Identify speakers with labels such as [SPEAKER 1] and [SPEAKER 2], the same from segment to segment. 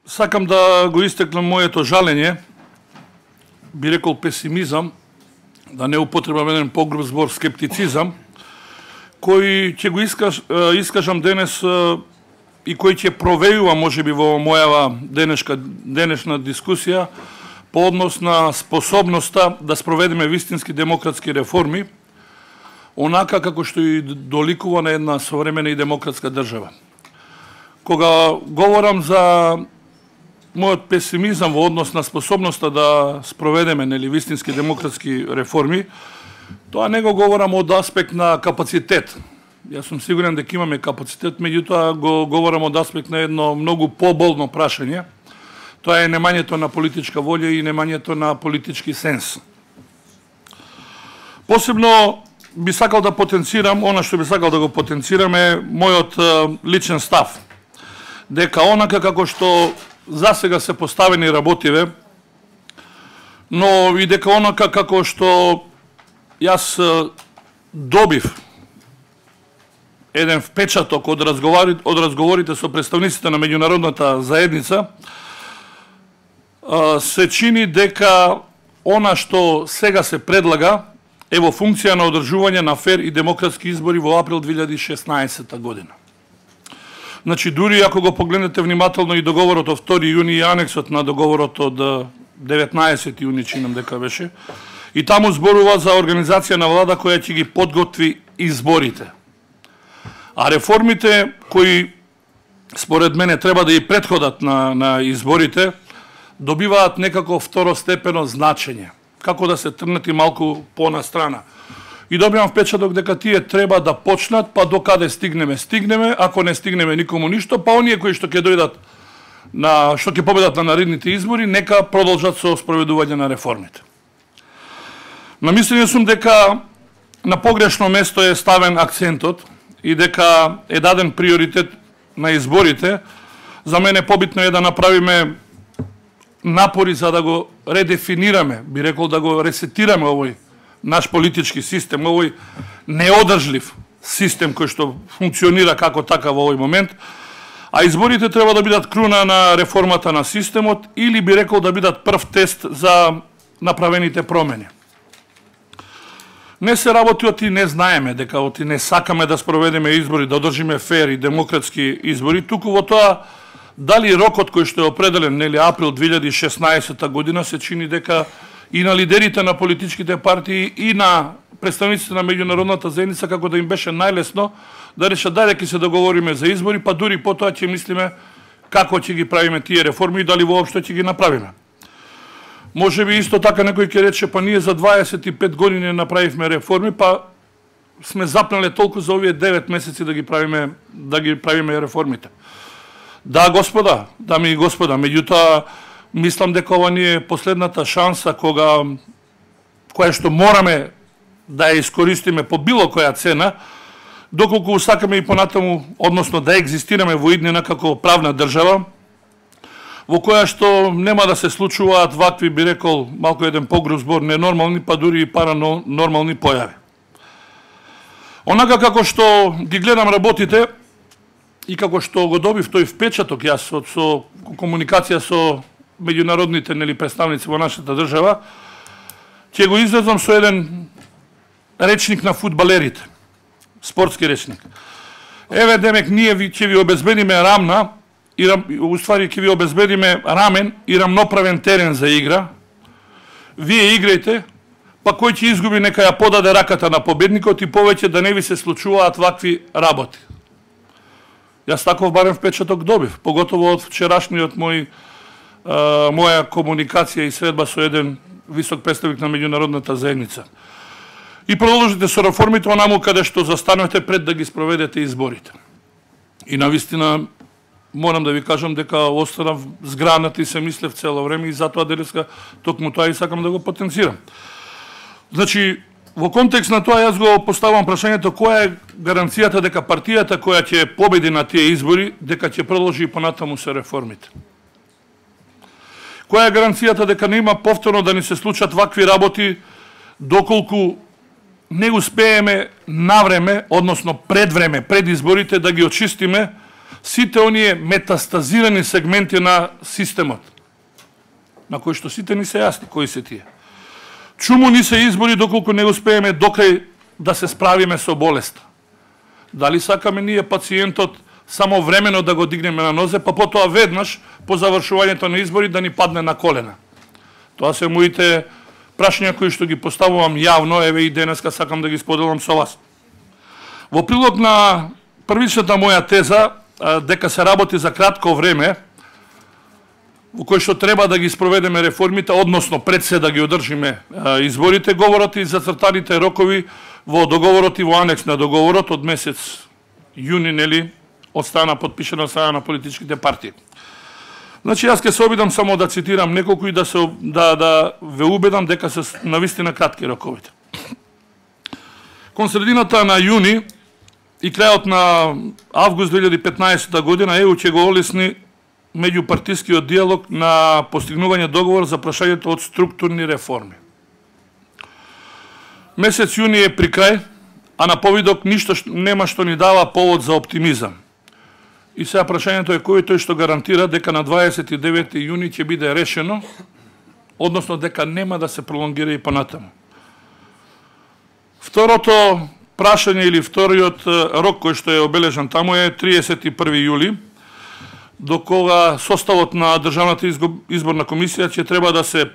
[SPEAKER 1] Сакам да го истеклам моето жалење, би рекол песимизам, да не употребам еден погруб збор скептицизам, кој ќе го искажам денес и кој ќе провејува можеби во мојава денешна дискусија по однос на способноста да спроведеме вистински демократски реформи, онака како што и доликува на една современа и демократска држава. Кога говорам за мојот песимизам во однос на способноста да спроведеме вистински демократски реформи, тоа не го говорам од аспект на капацитет. Јас сум сигурен дека имаме капацитет, меѓутоа го говорам од аспект на едно многу поболно прашање. Тоа е немањето на политичка волја и немањето на политички сенс. Посебно би сакал да потенцирам, она што би сакал да го потенцирам е мојот личен став. Дека онака како што засега се поставени работиве, но и дека онака како што јас добив еден впечаток од разговорите со представниците на меѓународната заедница, се чини дека она што сега се предлага е во функција на одржување на фер и демократски избори во април 2016 година. Значи, дури ако го погледнете внимателно и договорот од 2 јуни и анексот на договорот од 19 јуни, чинам дека беше, и таму зборува за организација на влада која ќе ги подготви изборите. А реформите кои според мене треба да и претходат на изборите, добиваат некако второстепено значење, како да се трнати малку понастрана. И добивам впечаток дека тие треба да почнат, па до каде стигнеме, ако не стигнеме никому ништо, па оние кои што ќе дојдат што ќе победат на наредните избори, нека продолжат со спроведување на реформите. Намислен сум дека на погрешно место е ставен акцентот и дека е даден приоритет на изборите. За мене побитно е да направиме напори за да го редефинираме, би рекол да го ресетираме овој наш политички систем, овој неодржлив систем кој што функционира како така во овој момент, а изборите треба да бидат круна на реформата на системот или би рекол да бидат прв тест за направените промени. Не се работи оти не знаеме, дека оти не сакаме да спроведеме избори, да одржиме фер и демократски избори, туку во тоа дали рокот кој што е определен, април 2016 година, се чини дека и на лидерите на политичките партии и на представниците на меѓународната заедница како да им беше најлесно да решат дај ќе се договориме за избори, па дури потоа ќе мислиме како ќе ги правиме тие реформи и дали воопшто ќе ги направиме. Може би исто така некој ќе рече, па ние за 25 години направивме реформи, па сме запнале толку за овие 9 месеци да ги правиме реформите. Да, господа, дами и господа, меѓутоа мислам дека ова ни е последната шанса која што мораме да ја искористиме по било која цена, доколку сакаме и понатаму, односно да екзистираме во иднина како правна држава, во која што нема да се случуваат вакви, би рекол, малку еден погруб збор, ненормални, па дури и паранормални појави. Онака како што ги гледам работите и како што го добив тој впечаток јас со комуникација со меѓународните представници во нашата држава, ќе го излезам со еден речник на фудбалерите, спортски речник. Еве демек ние ќе ви обезбедиме ќе ви обезбедиме рамен и рамноправен терен за игра. Вие играјте, па кој ќе изгуби нека ја подаде раката на победникот и повеќе да не ви се случуваат вакви работи. Јас таков барем впечаток добив, поготово од вчерашниот моја комуникација и средба со еден висок представник на меѓународната заедница. И продолжите со реформите онаму каде што застанете пред да ги спроведете изборите. И навистина морам да ви кажам дека останав згранат и се мислев цело време и затоа денеска токму тоа и сакам да го потенцирам. Значи, во контекст на тоа јас го поставам прашањето која е гаранцијата дека партијата која ќе победи на тие избори, дека ќе продолжи и понатаму се реформите. Која е гаранцијата дека нема повторно да ни се случат вакви работи доколку не успееме навреме, односно пред време, пред изборите, да ги очистиме сите оние метастазирани сегменти на системот, на кои што сите ни се јасни, кои се тие. Чуму ни се избори доколку не успееме докрај да се справиме со болеста. Дали сакаме ние пациентот само времено да го дигнеме на нозе, па потоа веднаш по завршувањето на избори да ни падне на колена? Тоа се моите прашања кои што ги поставувам јавно, еве и денеска сакам да ги споделам со вас. Во прилог на првичната моја теза, дека се работи за кратко време, во кој што треба да ги спроведеме реформите, односно пред се да ги одржиме изборите, говорат и зацртаните рокови во договорот и во анекс на договорот од месец јуни, нели, од страна подпишана од страна на политичките партии. Значи, јас ќе се обидам само да цитирам неколку и да ве убедам дека се навистина кратки роковите. Кон средината на јуни и крајот на август 2015 година ЕУ ќе го олесни меѓупартискиот диалог на постигнување договор за прашањето од структурни реформи. Месец јуни е при крај, а на повидок ништо нема што ни дава повод за оптимизам. И сега прашањето е кој тој што гарантира дека на 29 јуни ќе биде решено, односно дека нема да се пролонгира и понатаму. Второто прашање или вториот рок кој што е обележан таму е 31 јули, до кога составот на Државната изборна комисија ќе треба да се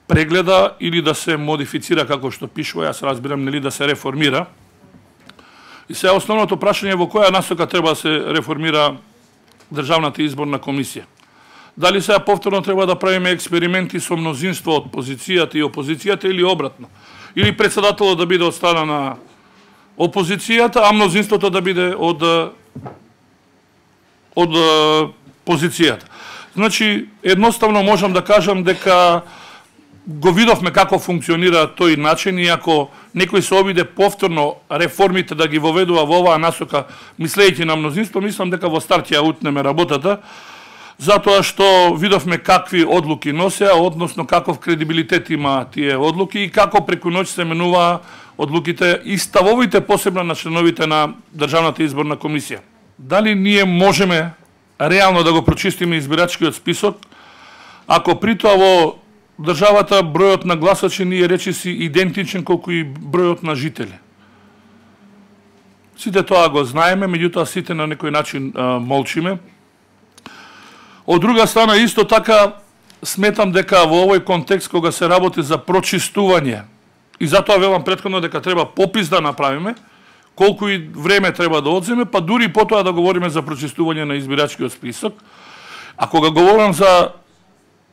[SPEAKER 1] прегледа или да се модифицира, како што пишува, јас разбирам, нели, да се реформира. И сега основното прашање е во која насока треба да се реформира Државната изборна комисија. Дали сега повторно треба да правиме експерименти со мнозинство од позицијата и опозицијата или обратно? Или председателот да биде од страна на опозицијата, а мнозинството да биде од позицијата. Значи, едноставно можам да кажам дека го видовме како функционира тој начин, и ако некој се обиде повторно реформите да ги воведува во оваа насока, мислејќи на мнозинство, мислам дека во старт ја утнеме работата, затоа што видовме какви одлуки носеа, односно каков кредибилитет има тие одлуки и како преку ноќ се менуваа одлуките и ставовите посебно на членовите на Државната изборна комисија. Дали ние можеме реално да го прочистиме избирачкиот список, ако при тоа во државата бројот на гласачи ни е речиси идентичен колку и бројот на жители? Сите тоа го знаеме, меѓутоа сите на некој начин молчиме. Од друга страна, исто така, сметам дека во овој контекст, кога се работи за прочистување, и затоа велам претходно дека треба попис да направиме, колку и време треба да одземе, па дури потоа да говориме за прочистување на избирачкиот список. А кога говорам за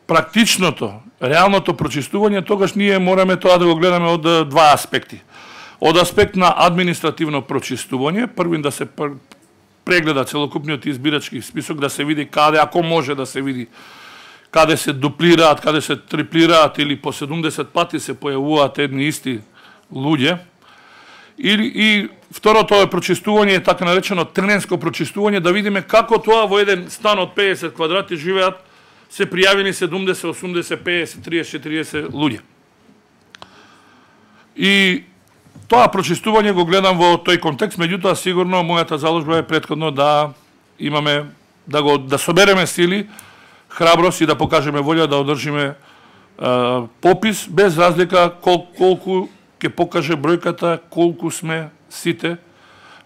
[SPEAKER 1] практичното, реалното прочистување, тогаш ние мораме тоа да го гледаме од два аспекти. Од аспект на административно прочистување, првин да се прегледа целокупниот избирачки список, да се види каде, ако може да се види, каде се дуплираат, каде се триплираат или по 70 пати се појавуваат едни исти луѓе. И второто е прочистување, така наречено теренско прочистување, да видиме како тоа во еден стан од 50 квадрати живеат се пријавени 70, 80, 50, 30, 40 луѓе. И тоа прочистување го гледам во тој контекст, меѓутоа сигурно мојата заложба е претходно да имаме, да собереме сили, храброст и да покажеме волја да одржиме попис, без разлика колку ќе покаже бројката, колку сме сите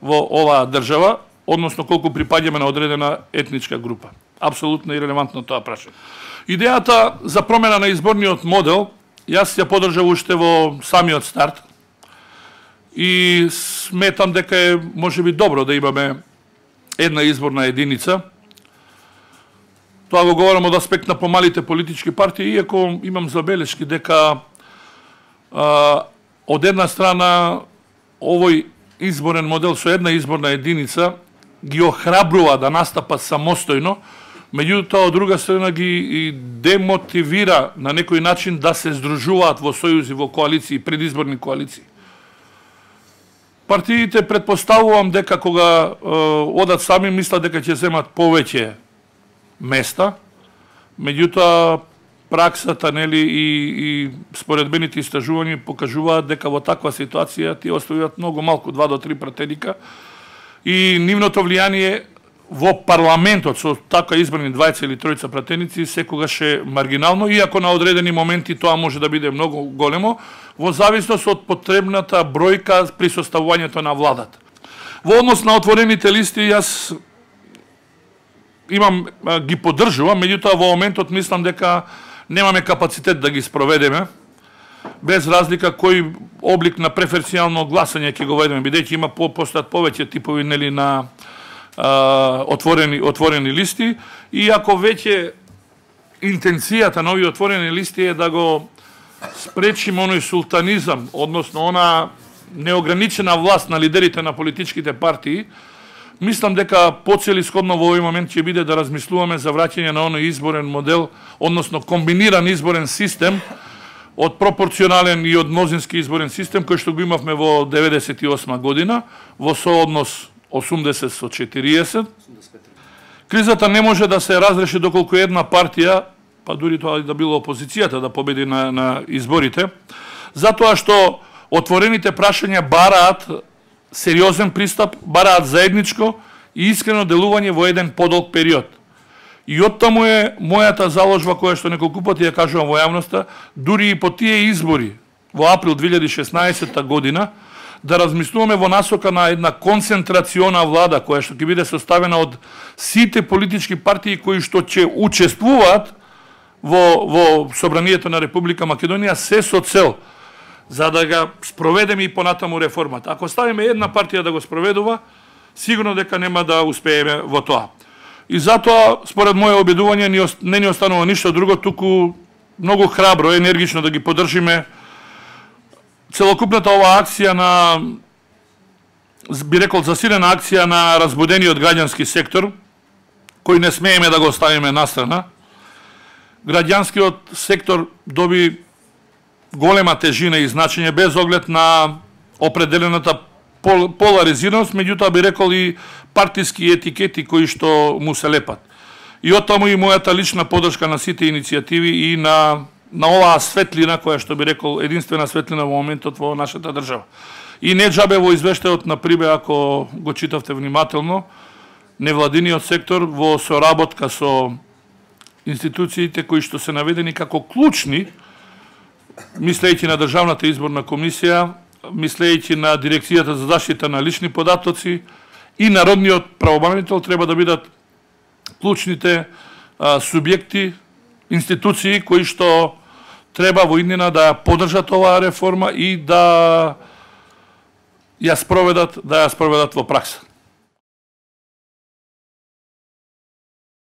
[SPEAKER 1] во оваа држава, односно колку припаѓаме на одредена етничка група. Апсолутно ирелевантно тоа прашање. Идејата за промена на изборниот модел, јас ја поддржав уште во самиот старт и сметам дека е можеби добро да имаме една изборна единица. Тоа го говорам од аспект на помалите политички партии, иако имам забелешки дека од една страна овој изборен модел со една изборна единица ги охрабрува да настапат самостојно, меѓутоа од друга страна ги демотивира на некој начин да се здружуваат во сојузи, во коалиции, предизборни коалиции. Партиите претпоставувам дека кога одат сами мислат дека ќе земат повеќе места, меѓутоа праксата, нели, и споредбените истражувања покажуваат дека во таква ситуација тие оставуваат многу малку, 2 до 3 пратеника, и нивното влијание во парламентот со така избрани двајца или тројца пратеници секогаш е маргинално, иако на одредени моменти тоа може да биде многу големо, во зависност од потребната бројка при составувањето на владата. Во однос на отворените листи, јас ги поддржувам, меѓутоа во моментот мислам дека немаме капацитет да ги спроведеме, без разлика кој облик на преференцијално гласање ќе го ведеме, бидејќи има постојат повеќе типови нели на отворени листи, и ако веќе интенцијата на овие отворени листи е да го спречиме оној султанизам, односно она неограничена власт на лидерите на политичките партии, мислам дека поцелисходно во овој момент ќе биде да размислуваме за враќање на оној изборен модел, односно комбиниран изборен систем од пропорционален и од мнозински изборен систем кој што го имавме во 98 година, во сооднос 80 со 40. Кризата не може да се разреши доколку една партија, па дури тоа да било опозицијата, да победи на изборите, затоа што отворените прашања бараат сериозен пристап, бараат заедничко и искрено делување во еден подолг период. И оттаму е мојата заложба која што неколку пати ја кажувам во јавноста, дури и по тие избори во април 2016 година, да размислуваме во насока на една концентрациона влада која што ќе биде составена од сите политички партии кои што ќе учествуваат во Собранието на Република Македонија, се со цел за да ga спроведеме и понатаму реформата. Ако ставиме една партија да го спроведува, сигурно дека нема да успееме во тоа. И затоа, според моје обидување, не ни останува ништо друго, туку многу храбро, енергично да ги поддржиме целокупната оваа акција на, би рекол, засилена акција на разбудениот граѓански сектор, кој не смееме да го оставиме настрана. Граѓанскиот сектор доби голема тежина и значење без оглед на определената поларизираност, меѓутоа би рекол и партиски етикети кои што му се лепат. И оттаму и мојата лична поддршка на сите иницијативи и на оваа светлина која што би рекол единствена светлина во моментот во нашата држава. И не џабе во извештајот на Прибе, ако го читавте внимателно, невладиниот сектор во соработка со институциите кои што се наведени како клучни, мислејќи на Државната изборна комисија, мислејќи на Дирекцијата за заштита на лични податоци и Народниот правобранител, треба да бидат клучните субјекти, институции кои што треба во иднина да поддржат оваа реформа и да ја спроведат во пракса.